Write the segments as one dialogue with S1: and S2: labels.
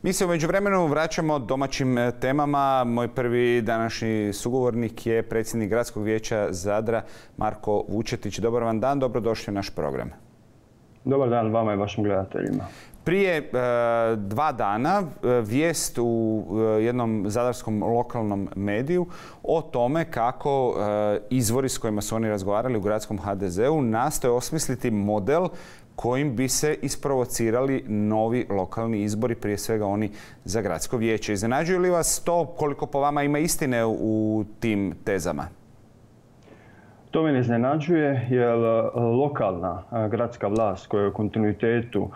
S1: Mi se u međuvremenu vraćamo domaćim temama. Moj prvi današnji sugovornik je predsjednik Gradskog vijeća Zadra, Marko Vučetić. Dobar vam dan, dobrodošli u naš program.
S2: Dobar dan vama i vašim gledateljima.
S1: Prije 2 dana vijest u jednom zadarskom lokalnom mediju o tome kako izvori s kojima su oni razgovarali u gradskom HDZ-u nastoje osmisliti model kojim bi se isprovocirali novi lokalni izbori, prije svega oni za gradsko vijeće. Iznenađuje li vas to, koliko po vama ima istine u tim tezama?
S2: To me ne iznenađuje jer lokalna gradska vlast koja je u kontinuitetu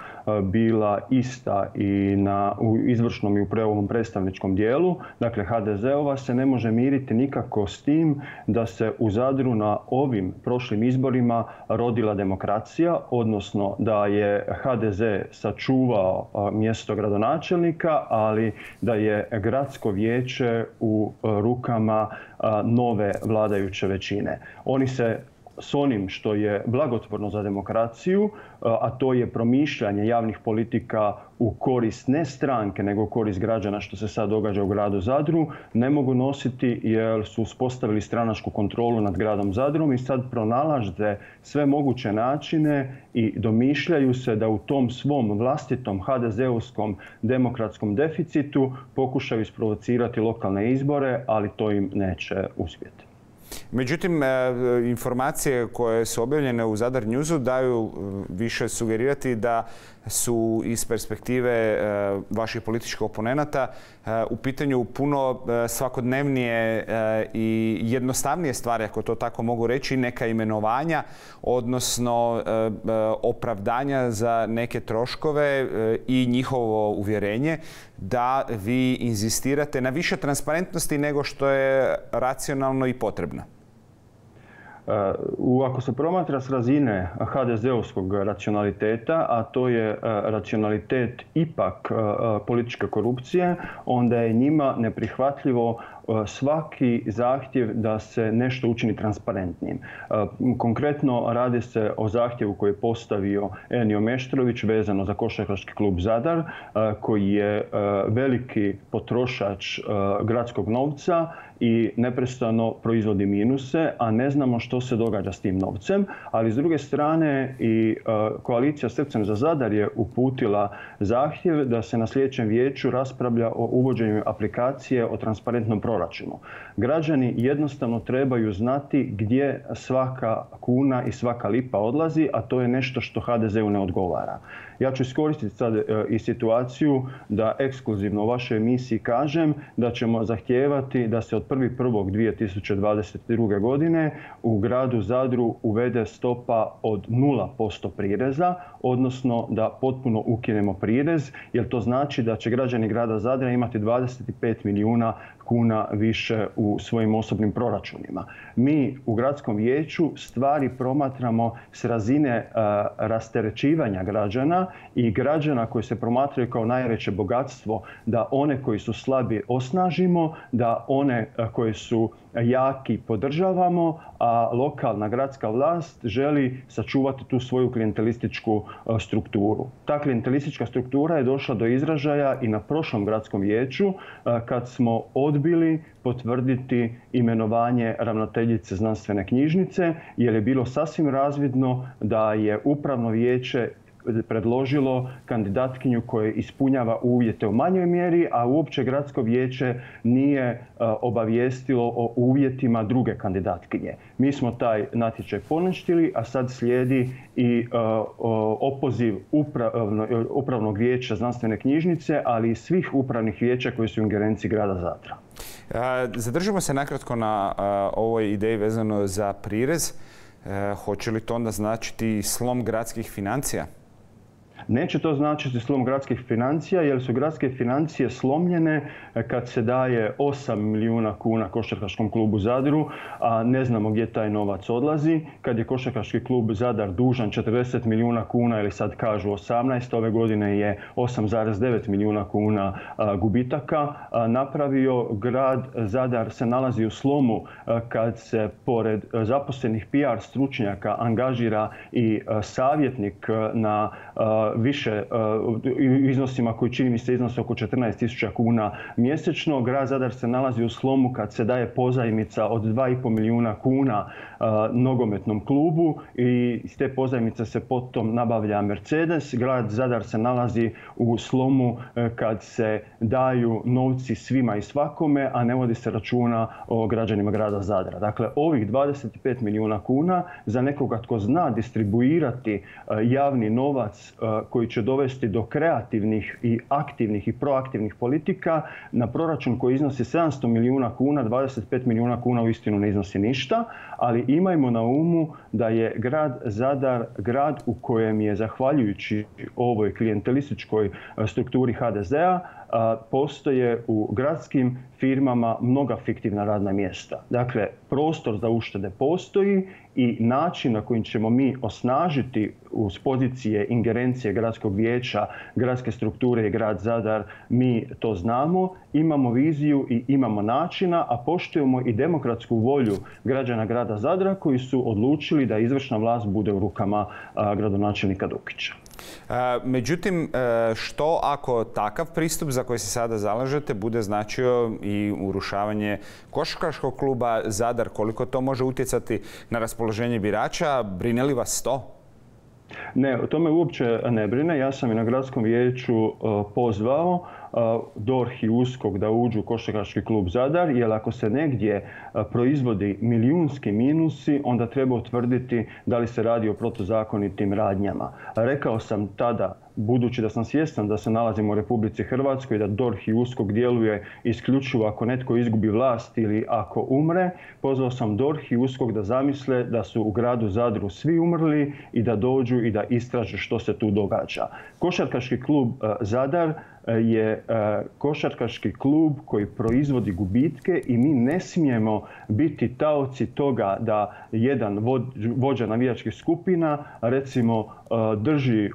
S2: bila ista i u izvršnom i u ovom predstavničkom dijelu, dakle HDZ-ova, se ne može miriti nikako s tim da se u Zadru na ovim prošlim izborima rodila demokracija, odnosno da je HDZ sačuvao mjesto gradonačelnika, ali da je gradsko vijeće u rukama nove vladajuće većine. Oni se s onim što je blagotvorno za demokraciju, a to je promišljanje javnih politika u korist ne stranke, nego u korist građana, što se sad događa u gradu Zadru, ne mogu nositi jer su uspostavili stranačku kontrolu nad gradom Zadrom i sad pronalaze sve moguće načine i domišljaju se da u tom svom vlastitom HDZ-ovskom demokratskom deficitu pokušaju isprovocirati lokalne izbore, ali to im neće uspjeti.
S1: Međutim, informacije koje su objavljene u Zadar Newsu daju više sugerirati da su iz perspektive vaših političkih oponenata u pitanju puno svakodnevnije i jednostavnije stvari, ako to tako mogu reći, neka imenovanja, odnosno opravdanja za neke troškove i njihovo uvjerenje da vi inzistirate na više transparentnosti nego što je racionalno i potrebno.
S2: Ako se promatra s razine HDZ-ovskog racionaliteta, a to je racionalitet ipak političke korupcije, onda je njima neprihvatljivo svaki zahtjev da se nešto učini transparentnim. Konkretno radi se o zahtjevu koji je postavio Enio Meštrović vezano za košarkaški klub Zadar, koji je veliki potrošač gradskog novca i neprestano proizvodi minuse, a ne znamo što se događa s tim novcem. Ali s druge strane i koalicija Srcem za Zadar je uputila zahtjev da se na sljedećem vijeću raspravlja o uvođenju aplikacije o transparentnom proračunu. Građani jednostavno trebaju znati gdje svaka kuna i svaka lipa odlazi, a to je nešto što HDZ-u ne odgovara. Ja ću iskoristiti sad i situaciju da ekskluzivno u vašoj emisiji kažem da ćemo zahtijevati da se od 1.1.2022. godine u gradu Zadru uvede stopa od 0% prireza, odnosno da potpuno ukinemo prirez, jer to znači da će građani grada Zadra imati 25 milijuna kuna više u svojim osobnim proračunima. Mi u gradskom vijeću stvari promatramo s razine rasterećivanja građana i građana koji se promatraju kao najveće bogatstvo, da one koji su slabi osnažimo, da one koji su jaki podržavamo, a lokalna gradska vlast želi sačuvati tu svoju klijentelističku strukturu. Ta klijentelistička struktura je došla do izražaja i na prošlom gradskom vijeću kad smo odbili potvrditi imenovanje ravnateljice znanstvene knjižnice, jer je bilo sasvim razvidno da je upravno vijeće predložilo kandidatkinju koja ispunjava uvjete u manjoj mjeri, a uopće gradsko vijeće nije obavijestilo o uvjetima druge kandidatkinje. Mi smo taj natječaj poništili, a sad slijedi i opoziv upravnog vijeća znanstvene knjižnice, ali i svih upravnih vijeća koji su u ingerenciji grada Zadra.
S1: Zadržimo se nakratko na ovoj ideji vezano za prirez. Hoće li to onda značiti slom gradskih financija?
S2: Neće to značiti slom gradskih financija, jer su gradske financije slomljene kad se daje 8 milijuna kuna košarkaškom klubu Zadru, a ne znamo gdje taj novac odlazi. Kad je košarkaški klub Zadar dužan 40 milijuna kuna, ili sad kažu 18, ove godine je 8,9 milijuna kuna gubitaka napravio. Grad Zadar se nalazi u slomu kad se pored zaposlenih PR stručnjaka angažira i savjetnik na više iznosima koji čini mi se iznose oko 14.000 kuna mjesečno. Grad Zadar se nalazi u slomu kad se daje pozajmica od 2,5 milijuna kuna nogometnom klubu i iz te pozajmice se potom nabavlja Mercedes. Grad Zadar se nalazi u slomu kad se daju novci svima i svakome, a ne vodi se računa o građanima grada Zadra. Dakle, ovih 25 milijuna kuna za nekoga tko zna distribuirati javni novac koji će dovesti do kreativnih i aktivnih i proaktivnih politika na proračun koji iznosi 700 milijuna kuna, 25 milijuna kuna uistinu ne iznosi ništa, ali imajmo na umu da je grad Zadar grad u kojem je, zahvaljujući ovoj klijentelističkoj strukturi HDZ-a, postoje u gradskim firmama mnoga fiktivna radna mjesta. Dakle, prostor za uštede postoji i način na kojim ćemo mi osnažiti uz pozicije ingerencije gradskog vijeća, gradske strukture i grad Zadar, mi to znamo, imamo viziju i imamo načina, a poštujemo i demokratsku volju građana grada Zadra koji su odlučili da izvršna vlast bude u rukama gradonačelnika Dukića.
S1: Međutim, što ako takav pristup za koji se sada zalažete bude značio i urušavanje košarkaškog kluba Zadar, koliko to može utjecati na raspoloženje birača? Brine li vas to?
S2: Ne, o tome uopće ne brine. Ja sam i na gradskom vijeću pozvao DORH i USKOK da uđu u košarkaški klub Zadar, jer ako se negdje proizvodi milijunski minusi, onda treba utvrditi da li se radi o protuzakonitim radnjama. Rekao sam tada, budući da sam svjestan da se nalazimo u Republici Hrvatskoj i da DORH i USKOK djeluje isključivo ako netko izgubi vlast ili ako umre, pozvao sam DORH i USKOK da zamisle da su u gradu Zadru svi umrli i da dođu i da istraže što se tu događa. Košarkaški klub Zadar je košarkaški klub koji proizvodi gubitke i mi ne smijemo biti taoci toga da jedan vođa navijačkih skupina recimo drži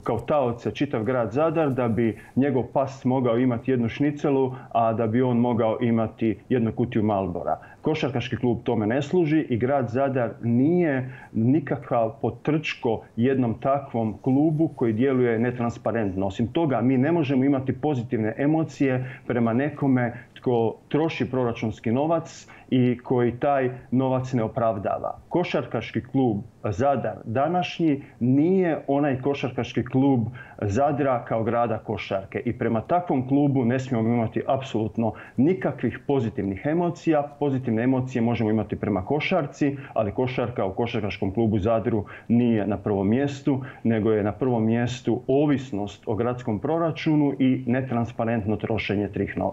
S2: kao taoce čitav grad Zadar da bi njegov pas mogao imati jednu šnicelu, a da bi on mogao imati jednu kutiju Marlbora. Košarkaški klub tome ne služi i grad Zadar nije nikakav potrčko jednom takvom klubu koji djeluje netransparentno. Osim toga, mi ne možemo imati pozitivne emocije prema nekome tko troši proračunski novac i koji taj novac ne opravdava. Košarkaški klub Zadar današnji nije onaj košarkaški klub Zadra kao grada košarke i prema takvom klubu ne smijemo imati apsolutno nikakvih pozitivnih emocija. Pozitivne emocije možemo imati prema košarci, ali košarka u košarkaškom klubu Zadru nije na prvom mjestu, nego je na prvom mjestu ovisnost o gradskom proračunu i netransparentno trošenje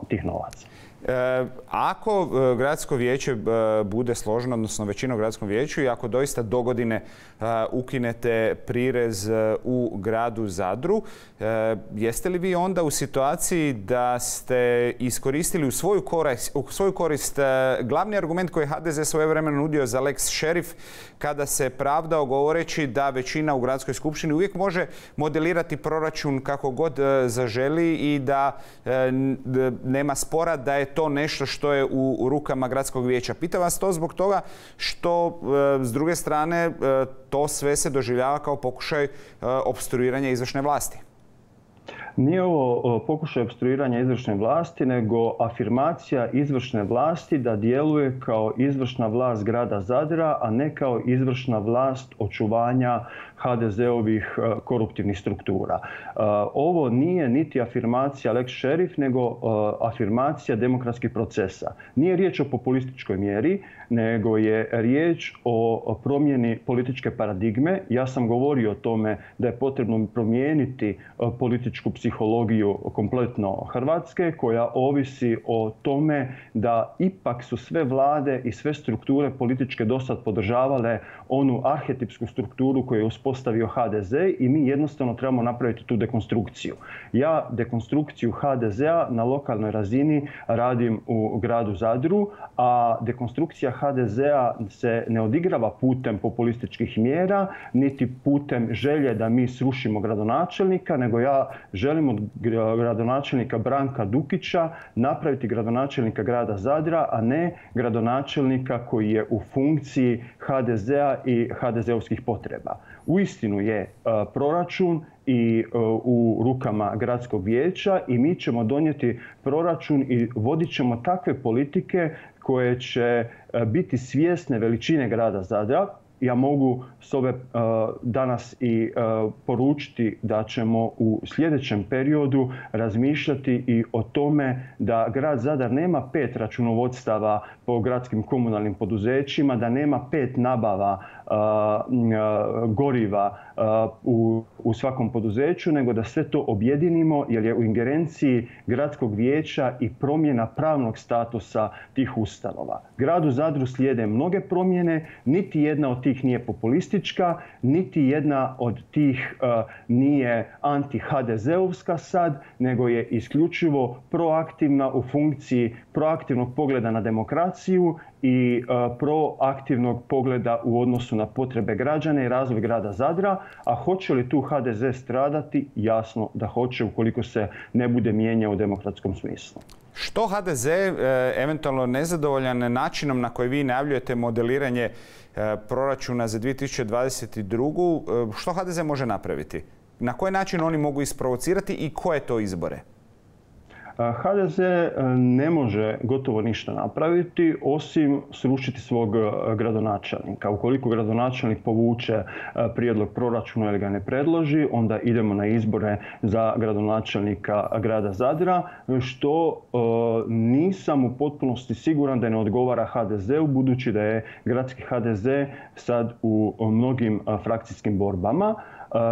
S2: tih novaca.
S1: Ako gradsko vijeće bude složeno, odnosno većina u gradskom vijeću, i ako doista dogodine ukinete prirez u gradu Zadru, jeste li vi onda u situaciji da ste iskoristili u svoju korist glavni argument koji je HDZ svojevremeno nudio za lex šerif, kada se pravdao govoreći da većina u gradskoj skupštini uvijek može modelirati proračun kako god zaželi i da nema spora da je to nešto što je u rukama gradskog vijeća. Pitam vas to zbog toga što s druge strane to sve se doživljava kao pokušaj opstruiranja izvršne vlasti.
S2: Nije ovo pokušaj opstruiranja izvršne vlasti, nego afirmacija izvršne vlasti da djeluje kao izvršna vlast grada Zadra, a ne kao izvršna vlast očuvanja HDZ-ovih koruptivnih struktura. Ovo nije niti afirmacija lex šerif, nego afirmacija demokratskih procesa. Nije riječ o populističkoj mjeri, nego je riječ o promjeni političke paradigme. Ja sam govorio o tome da je potrebno promijeniti političku psihologiju kompletno Hrvatske, koja ovisi o tome da ipak su sve vlade i sve strukture političke dosad podržavale onu arhetipsku strukturu koju je uspostavio HDZ i mi jednostavno trebamo napraviti tu dekonstrukciju. Ja dekonstrukciju HDZ-a na lokalnoj razini radim u gradu Zadru, a dekonstrukcija HDZ-a se ne odigrava putem populističkih mjera, niti putem želje da mi srušimo gradonačelnika, nego ja želim želimo od gradonačelnika Branka Dukića napraviti gradonačelnika grada Zadra, a ne gradonačelnika koji je u funkciji HDZ-a i HDZ-ovskih potreba. Uistinu je proračun i u rukama gradskog vijeća i mi ćemo donijeti proračun i vodit ćemo takve politike koje će biti svjesne veličine grada Zadra. Ja mogu s ove danas i poručiti da ćemo u sljedećem periodu razmišljati i o tome da grad Zadar nema 5 računovodstava po gradskim komunalnim poduzećima, da nema 5 nabava goriva u svakom poduzeću, nego da sve to objedinimo jer je u ingerenciji gradskog vijeća i promjena pravnog statusa tih ustanova. Gradu Zadru slijede mnoge promjene, niti jedna od tih nije populistička, niti jedna od tih nije anti-HDZ-ovska sad, nego je isključivo proaktivna u funkciji proaktivnog pogleda na demokraciju i proaktivnog pogleda u odnosu na potrebe građana i razvoj grada Zadra. A hoće li tu HDZ stradati? Jasno da hoće ukoliko se ne bude mijenjao u demokratskom smislu.
S1: Što HDZ, eventualno nezadovoljan načinom na koji vi najavljujete modeliranje proračuna za 2022. Što HDZ može napraviti? Na koji način oni mogu isprovocirati i koje to izbore?
S2: HDZ ne može gotovo ništa napraviti osim srušiti svog gradonačelnika. Ukoliko gradonačelnik povuče prijedlog proračuna ili ga ne predloži, onda idemo na izbore za gradonačelnika grada Zadra, što nisam u potpunosti siguran da ne odgovara HDZ-u, budući da je gradski HDZ sad u mnogim frakcijskim borbama.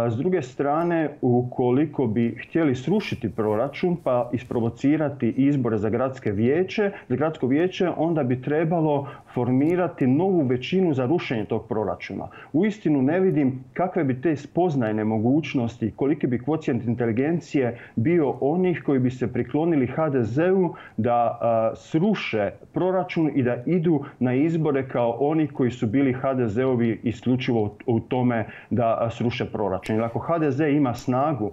S2: S druge strane, ukoliko bi htjeli srušiti proračun pa isprovocirati izbore za gradsko vijeće, onda bi trebalo formirati novu većinu za rušenje tog proračuna. Uistinu ne vidim kakve bi te spoznajne mogućnosti, koliki bi kvocijent inteligencije bio onih koji bi se priklonili HDZ-u da sruše proračun i da idu na izbore kao oni koji su bili HDZ-ovi isključivo u tome da sruše proračun. Jer ako HDZ ima snagu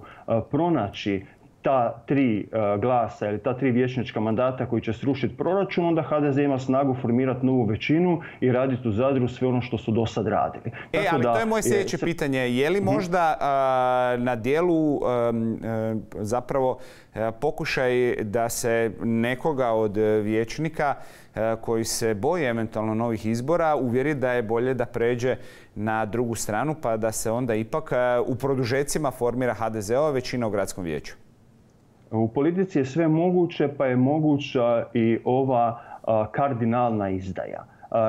S2: pronaći ta 3 glasa ili ta 3 vijećnička mandata koji će srušiti proračun, onda HDZ ima snagu formirati novu većinu i raditi u Zadru sve ono što su do sad radili.
S1: Ali to je moje sljedeće pitanje. Je li možda na dijelu zapravo pokušaj da se nekoga od vijećnika koji se boji eventualno novih izbora uvjeri da je bolje da pređe na drugu stranu pa da se onda ipak u produžecima formira HDZ-ova većina u gradskom vijeću?
S2: U politici je sve moguće, pa je moguća i ova kardinalna izdaja.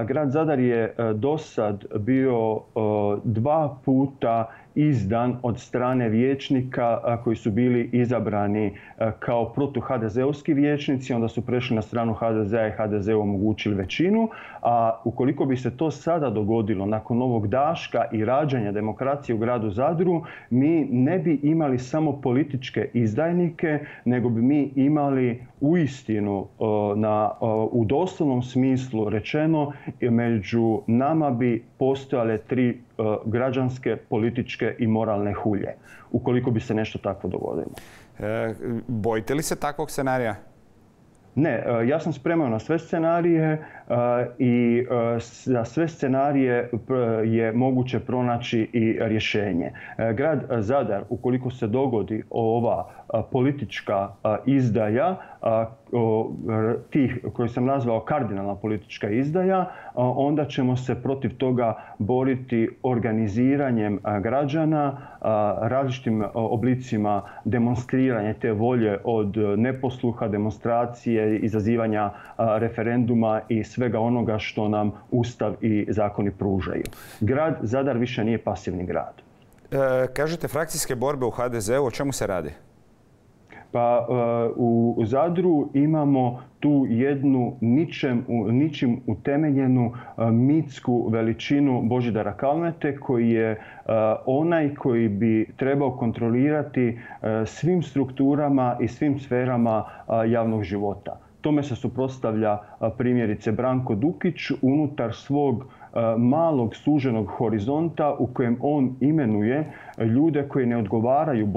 S2: Grad Zadar je dosad bio 2 puta izdan od strane vijećnika koji su bili izabrani kao protu-HDZ-ovski vijećnici, onda su prešli na stranu HDZ-a i HDZ-u omogućili većinu. A ukoliko bi se to sada dogodilo nakon ovog daška i rađanja demokracije u gradu Zadru, mi ne bi imali samo političke izdajnike, nego bi mi imali uistinu u doslovnom smislu rečeno među nama bi postojale 3 građanske, političke i moralne hulje, ukoliko bi se nešto takvo dogodilo.
S1: Bojite li se takvog scenarija?
S2: Ne, ja sam spreman na sve scenarije i za sve scenarije je moguće pronaći i rješenje. Grad Zadar, ukoliko se dogodi ova politička izdaja, tih koji sam nazvao kardinalna politička izdaja, onda ćemo se protiv toga boriti organiziranjem građana, različitim oblicima demonstriranja te volje od neposluha, demonstracije, izazivanja referenduma i svega onoga što nam Ustav i zakoni pružaju. Grad Zadar više nije pasivni grad.
S1: Kažete frakcijske borbe u HDZ-u, o čemu se radi?
S2: Pa u Zadru imamo tu jednu ničim utemeljenu mitsku veličinu Božidara Kalmete koji je onaj koji bi trebao kontrolirati svim strukturama i svim sferama javnog života. Tome se suprotstavlja primjerice Branko Dukić unutar svog malog suženog horizonta u kojem on imenuje ljude koji ne odgovaraju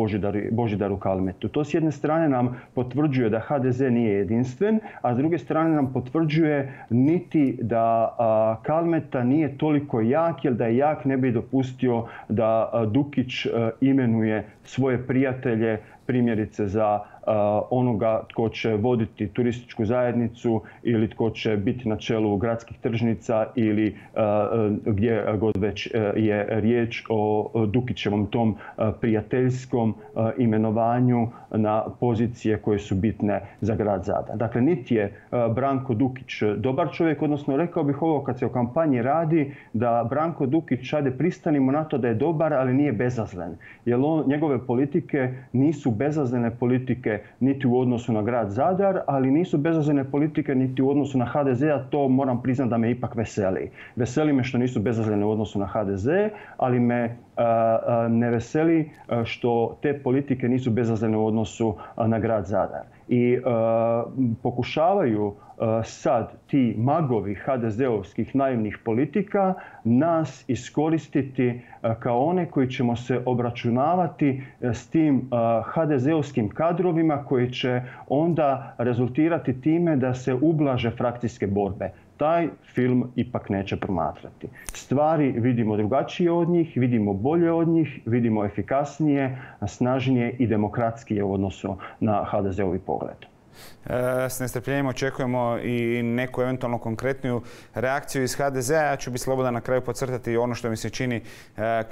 S2: Božidaru Kalmetu. To s jedne strane nam potvrđuje da HDZ nije jedinstven, a s druge strane nam potvrđuje niti da Kalmeta nije toliko jak, jer da je jak ne bi dopustio da Dukić imenuje svoje prijatelje, primjerice za onoga tko će voditi turističku zajednicu ili tko će biti na čelu gradskih tržnica ili gdje god već je riječ o Dukićevom tom prijateljskom imenovanju na pozicije koje su bitne za grad Zadar. Dakle, niti je Branko Dukić dobar čovjek, odnosno rekao bih ovo kad se o kampanji radi, da Branko Dukić, ajde pristanimo na to da je dobar, ali nije bezazlen. Jer njegove politike nisu bezazlene politike niti u odnosu na grad Zadar, ali nisu bezazlene politike niti u odnosu na HDZ, a to moram priznati da me ipak veseli. Veseli me što nisu bezazlene u odnosu na HDZ, ali me ne veseli što te politike nisu bezazlene u odnosu na grad Zadar. I pokušavaju sad ti magovi HDZ-ovskih naivnih politika nas iskoristiti kao one koji ćemo se obračunavati s tim HDZ-ovskim kadrovima koji će onda rezultirati time da se ublaže frakcijske borbe. Taj film ipak neće promatrati. Stvari vidimo drugačije od njih, vidimo bolje od njih, vidimo efikasnije, snažnije i demokratskije u odnosu na HDZ-ovi pogled.
S1: S nestrpljenjem očekujemo i neku eventualno konkretniju reakciju iz HDZ-a. Ja ću biti slobodan na kraju podcrtati ono što mi se čini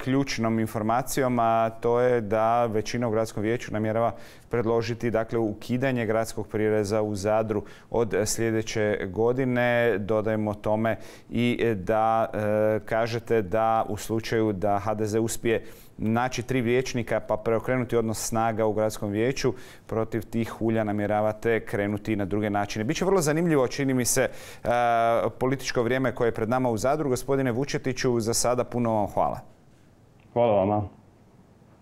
S1: ključnom informacijom, a to je da većina u gradskom vijeću namjerava predložiti ukidanje gradskog prireza u Zadru od sljedeće godine. Dodajemo tome i da kažete da u slučaju da HDZ uspije naći 3 vijećnika pa preokrenuti odnos snaga u gradskom vijeću, protiv tih hulja namjeravate krenuti na druge načine. Biće vrlo zanimljivo, čini mi se, političko vrijeme koje je pred nama u Zadru. Gospodine Vučetiću, za sada puno vam hvala.
S2: Hvala vama.